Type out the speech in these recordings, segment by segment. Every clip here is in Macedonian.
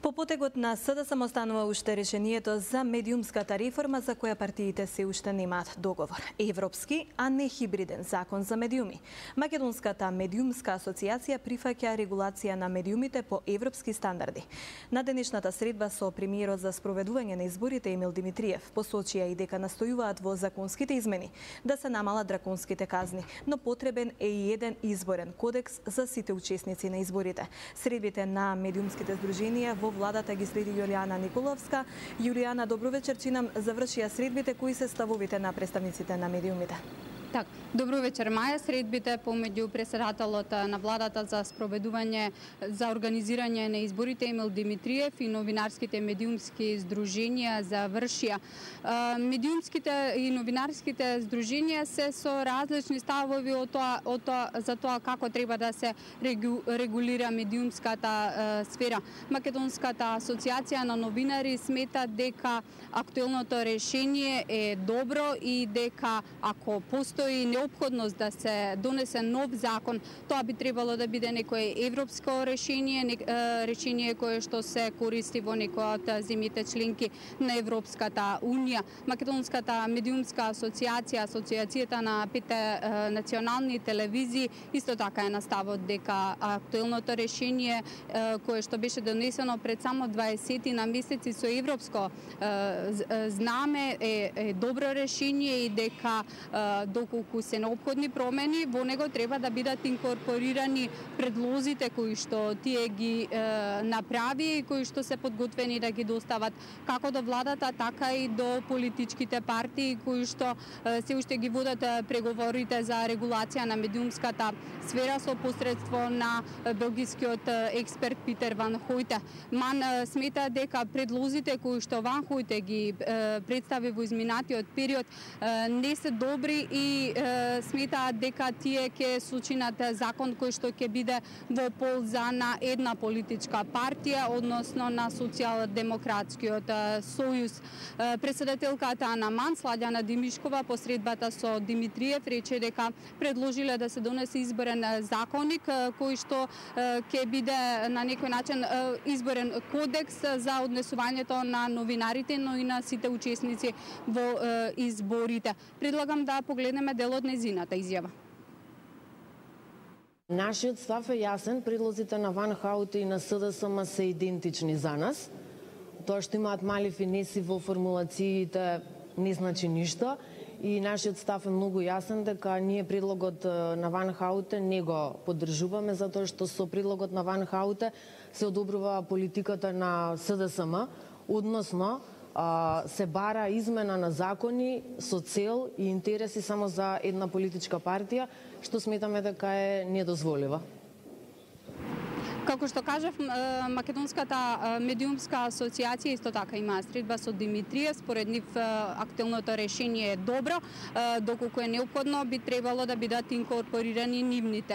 По потегот на СДСМ останува уште решението за медиумската реформа за која партиите се уште немаат договор. Европски, а не хибриден закон за медиуми. Македонската медиумска асоциација прифаќа регулација на медиумите по европски стандарди. На денешната средба со премиерот за спроведување на изборите Емил Димитриев посочија и дека настојуваат во законските измени да се намалат драконските казни, но потребен е и еден изборен кодекс за сите учесници на изборите. Средбите на медиумските здруженија во владата ги следи Јулијана Николовска. Јулијана, добро вечер, чинам завршија средбите, кои се ставовите на представниците на медиумите? Так, добро вечер, Маја. Средбите помеѓу председателот на владата за спроведување за организирање на изборите Емил Димитриев и новинарските медиумски здруженија завршија. Медиумските и новинарските здруженија се со различни ставови за тоа како треба да се регулира медиумската сфера. Македонската асоциација на новинари смета дека актуелното решение е добро и дека ако постои неопходност да се донесе нов закон, тоа би требало да биде некое европско решение, решение кое што се користи во некоја од земјите членки на Европската унија. Македонската медиумска асоциација, асоциацијата на 5 национални телевизии, исто така е на ставот дека актуелното решение кое што беше донесено пред само 20 на месеци со европско знаме е добро решение и дека доколку се неопходни промени, во него треба да бидат инкорпорирани предлозите кои што тие ги направи и кои што се подготвени да ги достават како до владата, така и до политичките партии кои што се уште ги водат преговорите за регулација на медиумската сфера со посредство на белгискиот експерт Питер Ван Хојте. Ман смета дека предлозите кои што Ван Хојте ги представи во изминатиот период не се добри и сметаат дека тие ќе сочинат закон кој што ќе биде во полза на една политичка партија, односно на Социјалдемократскиот сојуз. Председателката на МАН, Сладјана Димишкова, по средбата со Димитриев, рече дека предложиле да се донесе изборен законник кој што ќе биде на некој начин изборен кодекс за однесувањето на новинарите, но и на сите учесници во изборите. Предлагам да погледнеме дел од незината изјава. Нашиот став е јасен, предлозите на Ван Хојте и на СДСМ се идентични за нас. Тоа што имаат мали финеси во формулациите не значи ништо и нашиот став е многу јасен дека ние предлогот на Ван Хојте не го поддржуваме затоа што со предлогот на Ван Хојте се одобрува политиката на СДСМ, односно се бара измена на закони со цел и интереси само за една политичка партија, што сметаме дека е недозволива. Како што кажав, Македонската медиумска асоциација исто така има средба со Димитриев. Според нив актуелното решение е добро, доколку е неопходно би требало да бидат инкорпорирани нивните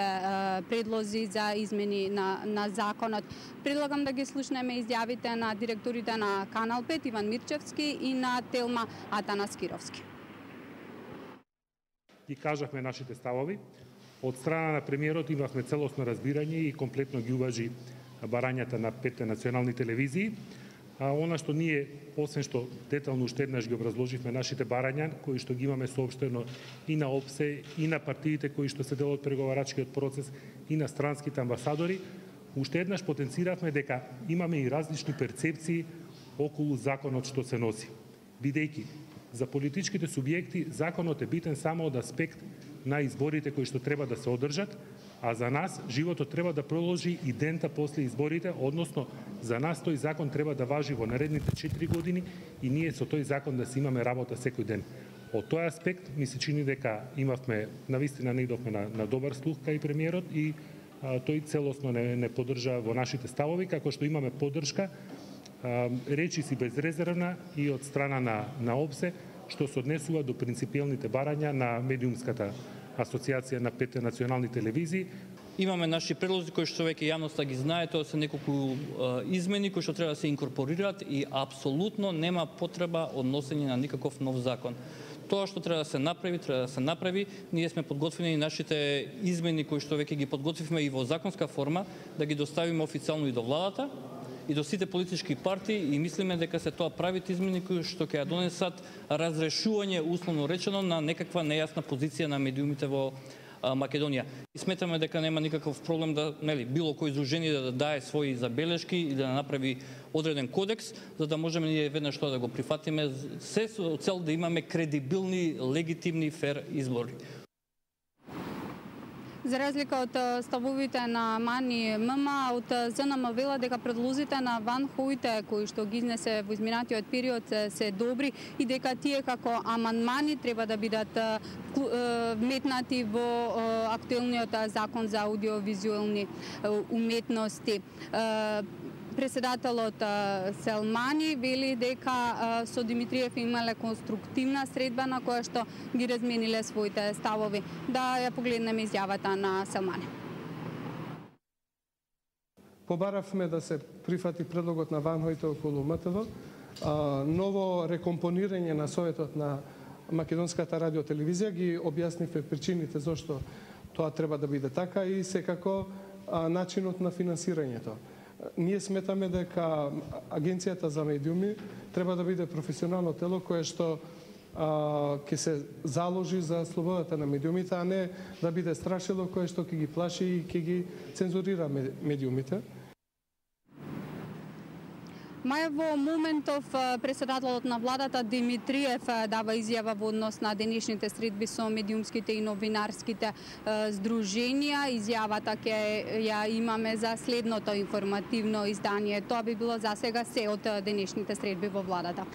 предлози за измени на законот. Предлагам да ги слушнеме изјавите на директорите на Канал 5 Иван Мирчевски и на Телма Атанаскировски. Ги кажавме нашите ставови. Од страна на премиерот имавме целосно разбирање и комплетно ги уважи барањата на 5 национални телевизии. Она што ние, освен што детално уште еднаш ги образложивме нашите барања, кои што ги имаме соопштено и на ОПСЕ, и на партиите кои што се дел од преговарачкиот процес, и на странските амбасадори, уште еднаш потенциравме дека имаме и различни перцепции околу законот што се носи. Бидејќи за политичките субјекти законот е битен само од аспект на изборите кои што треба да се одржат, а за нас животот треба да продолжи и дента после изборите, односно за нас тој закон треба да важи во наредните 4 години и ние со тој закон да си имаме работа секој ден. Од тој аспект ми се чини дека имавме, навистина наидовме на добар слух кај премиерот и тој целосно не поддржа во нашите ставови, како што имаме поддршка речи си безрезервна и од страна на ОПСЕ, што се однесува до принципиелните барања на медиумската асоциација на 5 национални телевизии. Имаме наши предлози кои што веќе јавноста ги знае, тоа се неколку измени кои што треба да се инкорпорираат и апсолутно нема потреба од носење на никаков нов закон. Тоа што треба да се направи, ние сме подготвени нашите измени кои што веќе ги подготвивме и во законска форма, да ги доставиме официјално и до владата и до сите политички партии и мислиме дека се тоа правите измени кои што ќе ја донесат разрешување, условно речено, на некаква нејасна позиција на медиумите во Македонија. И сметаме дека нема никаков проблем да, било кој издружение да даде своји забелешки или да направи одреден кодекс, за да можеме ние веднаш тоа да го прифатиме, се со цел да имаме кредибилни, легитимни, фер избори. За разлика од ставовите на Мани ММ, од ЗНМ вела дека предлозите на Ван Хојте, кои што ги изнесе во изминатиот период, се добри и дека тие како амандмани треба да бидат вметнати во актуелниот закон за аудиовизуелни уметности. Председателот Селмани вели дека со Димитриев имале конструктивна средба на која што ги размениле своите ставови. Да ја погледнеме изјавата на Селмани. Побаравме да се прифати предлогот на Ван Хојте околу МТВ, ново рекомпонирање на Советот на Македонската радиотелевизија, ги објаснивме причините зашто тоа треба да биде така и секако начинот на финансирањето. Ние сметаме дека Агенцијата за медиуми треба да биде професионално тело кое што ќе се заложи за слободата на медиумите, а не да биде страшило кое што ќе ги плаши и ќе ги цензурира медиумите. Мај во моментов председателот на владата Димитриев дава изјава во однос на денешните средби со медиумските и новинарските здруженија. Изјавата ќе ја имаме за следното информативно издание. Тоа би било за сега се од денешните средби во владата.